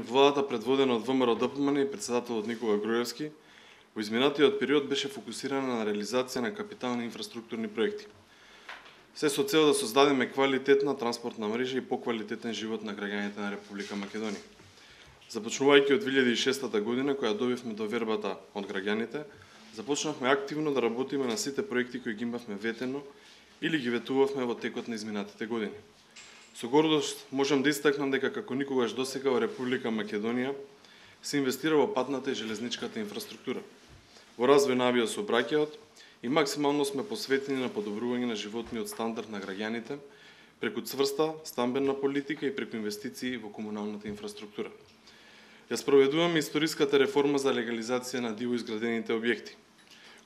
Владата, предводена од ВМРО-ДПМН и председателот Никола Груевски, во изминатиот период беше фокусирана на реализација на капитални инфраструктурни проекти. Се со цел да создадеме квалитетна транспортна мрежа и поквалитетен живот на граѓаните на Република Македонија. Започнувајќи од 2006 година, која добивме довербата од граѓаните, започнавме активно да работиме на сите проекти кои ги имавме ветено или ги ветувавме во текот на изминатите години. Со гордост можам да истакнам дека како никогаш досега во Република Македонија се инвестира во патната и железничката инфраструктура, во развој на авиосообраќајот и максимално сме посветени на подобрување на животниот стандард на граѓаните преку цврста стамбена политика и преку инвестиции во комуналната инфраструктура. Ја спроведуваме историската реформа за легализација на диво изградените објекти.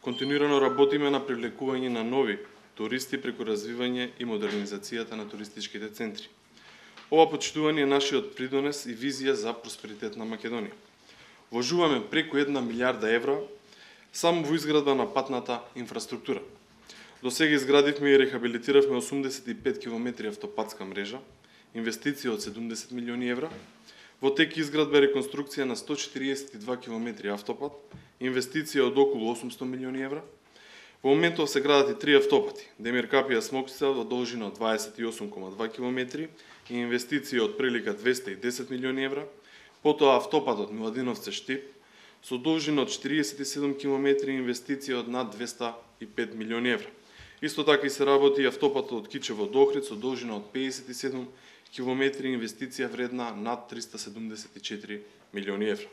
Континуирано работиме на привлекување на нови туристи преку развивање и модернизацијата на туристичките центри. Ова почитување е нашиот придонес и визија за просперитет на Македонија. Вложуваме преку 1 милиарда евра само во изградба на патната инфраструктура. До сега изградивме и рехабилитиравме 85 км автопатска мрежа, инвестиција од 70 милиони евра, во тек изградба и реконструкција на 142 км автопат, инвестиција од околу 800 милиони евра. Во моментов се градат и 3 автопати, Демир Капија Смокчица во должина од 28,2 км и инвестиција од прилика 210 милиони евра, потоа автопатот Миладиновци Штип со должина од 47 км и инвестиција од над 205 милиони евра. Исто така и се работи и автопатот од Кичево до Охрид со должина од 57 км и инвестиција вредна над 374 милиони евра.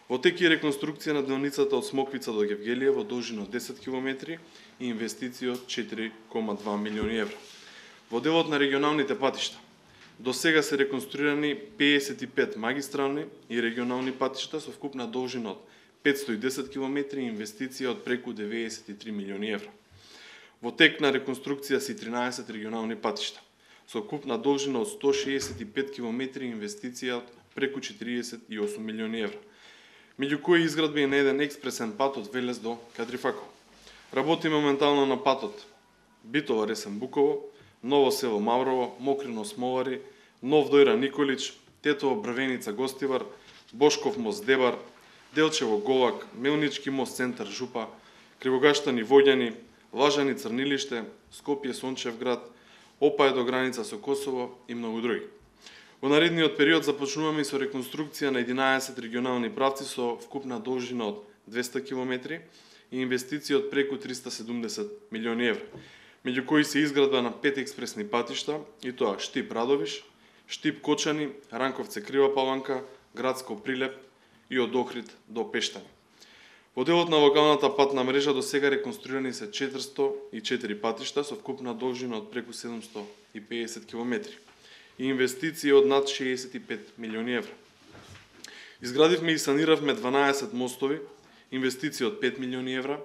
Во тек и реконструкција на делницата од Смоквица до Гевгелија во должина од 10 км и инвестиција од 4,2 милиони евра. Во делот на регионалните патишта, до сега се реконструирани 55 магистрални и регионални патишта со вкупна должина од 510 км и инвестиција од преку 93 милиони евра. Во тек на реконструкција се 13 регионални патишта со вкупна должина од 165 км и инвестиција од преку 48 милиони евра, меѓу кои изградба и на еден експресен пат од Велес до Кадрифако. Работи моментално на патот Битола Ресен Буково, Ново село Маврово, Мокрино Смолари, Нов Дојра Николич, Тетово Брвеница Гостивар, Бошков мост Дебар, Делчево Голак, Мелнички мост Центар Жупа, Кривогаштани Воѓани, Лажани Црнилиште, Скопје Сончевград, Опај до граница со Косово и многу други. Во наредниот период започнуваме со реконструкција на 11 регионални правци со вкупна должина од 200 км и инвестиција од преку 370 милиони евра, меѓу кои се изградба на 5 експресни патишта, и тоа Штип Радовиш, Штип Кочани, Ранковце Крива Паланка, Градско Прилеп и од Охрид до Пештани. Во делот на локалната патна мрежа до сега реконструирани се 404 патишта со вкупна должина од преку 750 км и инвестиција од над 65 милиони евра. Изградивме и саниравме 12 мостови, инвестиција од 5 милиони евра,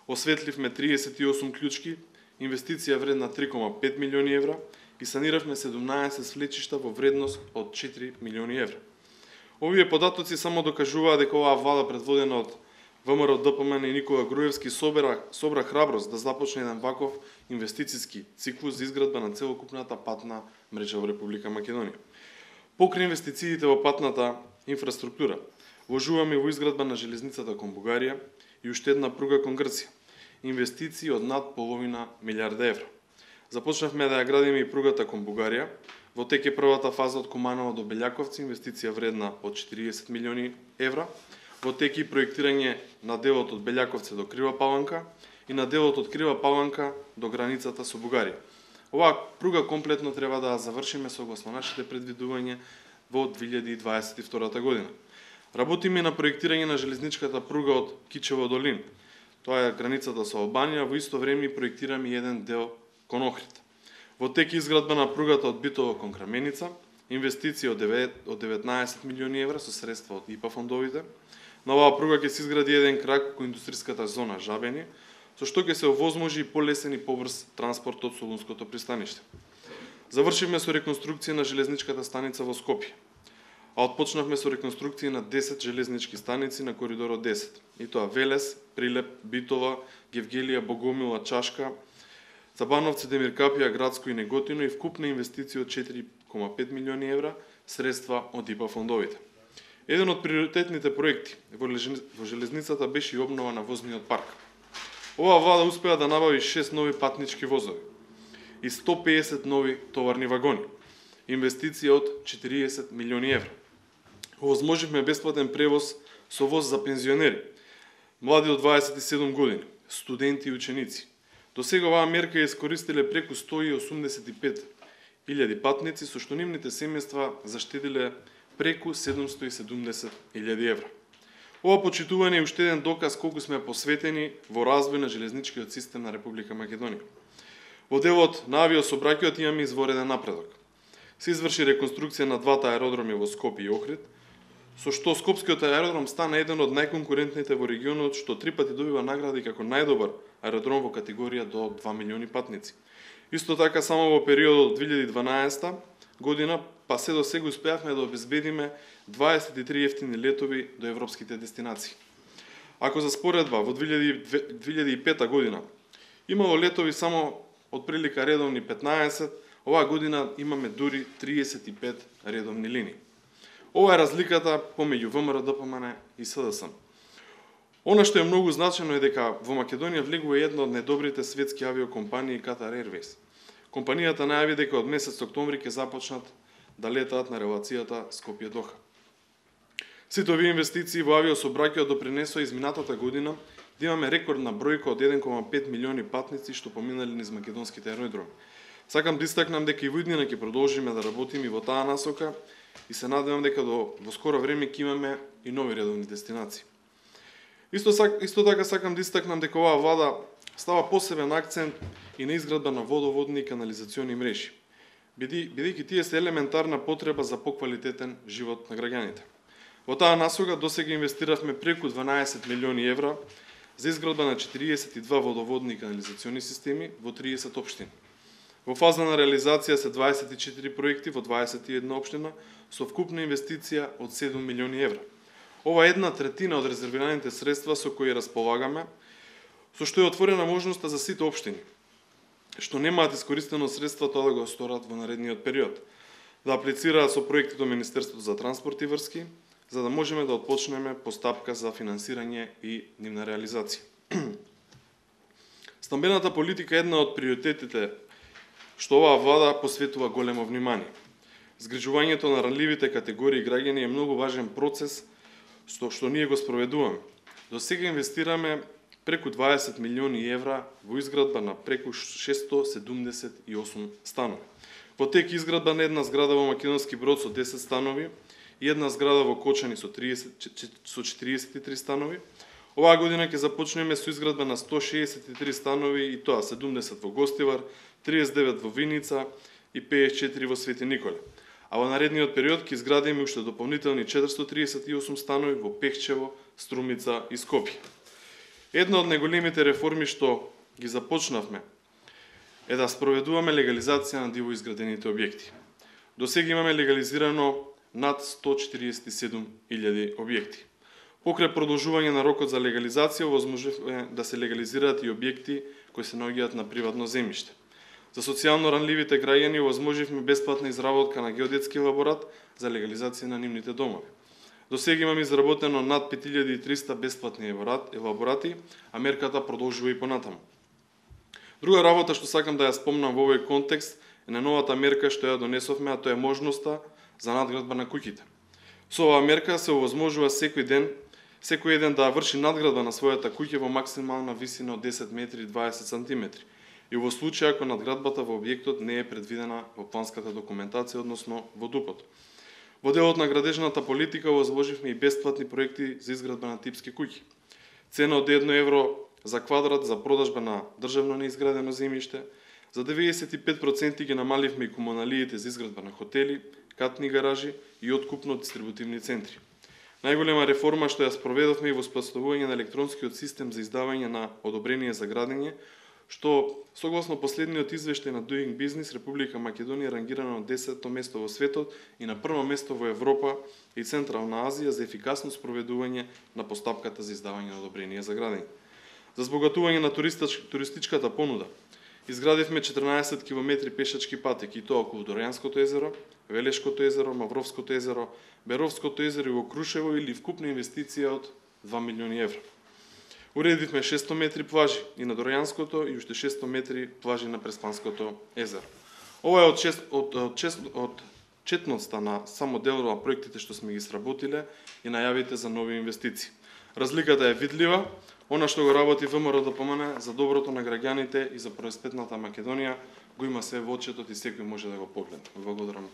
осветливме 38 клучки, инвестиција вредна 3,5 милиони евра и саниравме 17 свлечишта во вредност од 4 милиони евра. Овие податоци само докажуваат дека оваа влада предводена од ВМРО-ДПМН и Никола Груевски собра храброст да започне еден ваков инвестициски циклус за изградба на целокупната патна мрежа во Република Македонија. Покрај инвестициите во патната инфраструктура, вложуваме во изградба на железницата кон Бугарија и уште една пруга кон Грција, инвестиции од над половина милиарда евра. Започнавме да ја градиме и пругата кон Бугарија, во тек е првата фаза од Куманово до Белјаковци, инвестиција вредна од 40 милиони евра, во тек и проектирање на делот од Белјаковци до Крива Паланка и на делот од Крива Паланка до границата со Бугарија. Оваа пруга комплетно треба да завршиме согласно нашите предвидувања во 2022 година. Работиме на проектирање на железничката пруга од Кичево до Лин. Тоа е границата со Албанија, во исто време проектираме еден дел кон Охрид. Во тек изградба на пругата од Битово кон Краменица, инвестиција од 19 милиони евра со средства од ИПА фондовите. На оваа пруга ќе се изгради еден крак кон индустријската зона Жабени, со што ќе се овозможи полесен и побрз транспорт од Солунското пристаниште. Завршивме со реконструкција на железничката станица во Скопје, а отпочнавме со реконструкција на 10 железнички станици на коридорот 10, и тоа Велес, Прилеп, Битола, Гевгелија, Богомила, Чашка, Цабановци, Демир Капија, Градско и Неготино и вкупна инвестиција од 4,5 милиони евра, средства од ИПА фондовите. Еден од приоритетните проекти во железницата беше и обнова на возниот парк. Оваа влада успеа да набави 6 нови патнички возови и 150 нови товарни вагони. Инвестиција од 40 милиони евра. Овозможивме бесплатен превоз со воз за пензионери, млади од 27 години, студенти и ученици. До сега оваа мерка ја искористиле преку 185.000 патници, со што нивните семејства заштедиле преку 770.000 евра. Ова почитување е уште еден доказ колку сме посветени во развој на железничкиот систем на Република Македонија. Во делот на авиосообраќајот имаме извореден напредок. Се изврши реконструкција на двата аеродроми во Скопје и Охрид, со што Скопскиот аеродром стана еден од најконкурентните во регионот, што 3 пати добива награди како најдобар аеродром во категорија до 2 милиони патници. Исто така, само во периодот од 2012 година, па се до сега успеавме да обезбедиме 23 ефтини летови до европските дестинации. Ако за споредба, во 2005 година имало летови само од прилика редовни 15, оваа година имаме дури 35 редовни линии. Ова е разликата помеѓу ВМРО ДПМН и СДСМ. Она што е многу значено е дека во Македонија влегува една од најдобрите светски авиокомпании Qatar Airways. Компанијата најави дека од месец октомври ќе започнат да летаат на релацијата Скопје-Доха. Сите овие инвестиции во авиосообраќајот допринесоа изминатата година да имаме рекордна бројка од 1,5 милиони патници што поминали низ македонските аеродроми. Сакам да истакнам дека и во иднина ќе продолжиме да работиме и во таа насока и се надевам дека во скоро време ќе имаме и нови редовни дестинации. Исто така сакам да истакнам дека оваа влада става посебен акцент и на изградба на водоводни и канализациони мрежи, бидејќи тие се елементарна потреба за поквалитетен живот на граѓаните. Во таа насока досега инвестиравме преку 12 милиони евра за изградба на 42 водоводни и канализациони системи во 30 општини. Во фаза на реализација се 24 проекти во 21 општина со вкупна инвестиција од 7 милиони евра. Ова е 1/3 од резервираните средства со кои располагаме, со што е отворена можноста за сите општини, што немаат искористено средства, тоа да го сторат во наредниот период, да аплицираат со проекти до Министерството за транспорт и врски, за да можеме да отпочнеме постапка за финансирање и нивна реализација. Стамбената политика е една од приоритетите што оваа влада посветува големо внимание. Згрижувањето на ранливите категории граѓани е многу важен процес што ние го спроведуваме. До сега инвестираме преку 20 милиони евра во изградба на преку 678 станови. Во тек изградба на една зграда во Македонски Брод со 10 станови и една зграда во Кочани со 43 станови. Оваа година ќе започнеме со изградба на 163 станови и тоа 70 во Гостивар, 39 во Виница и 54 во Свети Николе. А во наредниот период ќе изградиме уште дополнителни 438 станови во Пехчево, Струмица и Скопје. Една од најголемите реформи што ги започнавме е да спроведуваме легализација на диво изградените објекти. До сега имаме легализирано над 147.000 објекти. Покрај продолжување на рокот за легализација, возможно да се легализираат и објекти кои се наоѓаат на приватно земјиште. За социјално ранливите граѓани возможивме бесплатна изработка на геодетски елаборат за легализација на нивните домови. До сега имаме изработено над 5300 бесплатни елаборати, а мерката продолжува и понатаму. Друга работа што сакам да ја спомнам во овој контекст е на новата мерка што ја донесовме, а тоа е можноста за надградба на куќите. Со оваа мерка се овозможува секој еден да врши надградба на својата куќа во максимална висина од 10 метри и 20 сантиметри. И во случај ако надградбата во објектот не е предвидена во планската документација, односно во ДУП-от. Во делот на градежната политика возложивме и бесплатни проекти за изградба на типски куќи. Цена од 1 евро за квадрат за продажба на државно неизградено земјиште, за 95% ги намаливме и комуналиите за изградба на хотели, катни гаражи и откупно дистрибутивни центри. Најголема реформа што ја спроведовме и во споставување на електронскиот систем за издавање на одобрение за градење, што согласно последниот извештај на Doing Business, Република Македонија рангирана на 10-то место во светот и на прво место во Европа и Централна Азија за ефикасно спроведување на постапката за издавање на одобрение за градење. За збогатување на туристичката понуда Изградивме 14 км пешачки патеки, и тоа околу Дорајанското езеро, Велешкото езеро, Мавровското езеро, Беровското езеро и во Крушево, или вкупна инвестиција од 2 милиони евра. Уредивме 600 метри плажи и на Дорајанското и уште 600 метри плажи на Преспанското езеро. Ова е од четноста на само дел на проектите што сме ги сработиле и најавите за нови инвестиции. Разликата е видлива. Она што го работи ВМРО ДПМН за доброто на граѓаните и за просперитетната Македонија го има се во очетот и секој може да го погледне. Благодарам.